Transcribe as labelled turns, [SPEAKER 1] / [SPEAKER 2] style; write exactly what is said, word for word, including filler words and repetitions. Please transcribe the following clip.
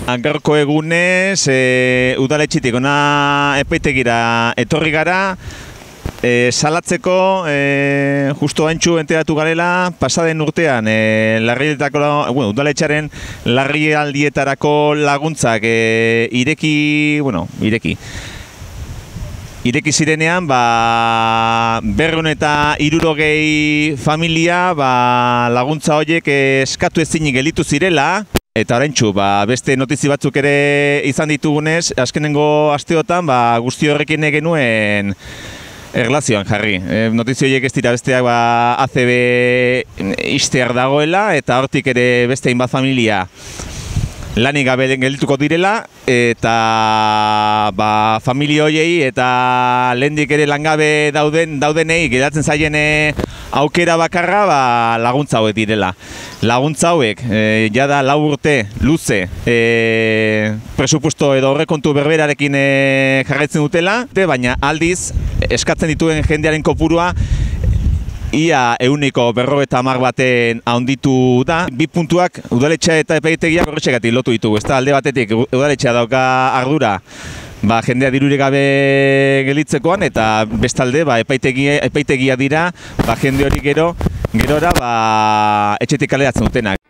[SPEAKER 1] Gaurko egunez, e, udaletxitik ona epaitegira etorri gara, e, salatzeko e, justo haintxu enteratu garela, pasaden urtean e, bueno, udaletxaren larrialdietarako laguntzak e, ireki, bueno, ireki. Ireki zirenean, ba, berrehun eta hirurogei familia ba, laguntza horiek eskatu ezinik gelditu zirela. Eta oraintxu, ba, beste notizi batzuk ere izan ditugunez, azkenengo asteotan ba, guzti horrekin genuen erlazioan jarri. E, notizi horiek ez dira besteak ba, A C B ixtear dagoela, eta hortik ere beste hainbat familia lanik gabe geldituko direla, eta ba, familia horiei eta lehendik ere langabe dauden daudenei geratzen zaien aukera bakarra ba, laguntza hauek direla. Laguntza hauek, e, jada lau urte luze e, presupuesto edo horrekontu berberarekin e, jarraitzen dutela, baina aldiz eskatzen dituen jendearen kopurua ia ehuneko berrogeita hamar baten handitu da. Bi puntuak udaletxea eta epaitegiak horretxegatik lotu ditugu. Ez da, alde batetik udaletxea dauka ardura ba, jendea dirurik gabe gelitzekoan, eta bestalde ba, epaitegia, epaitegia dira ba, jende hori gero gerora ba, etxetik kaleratzen dutenak.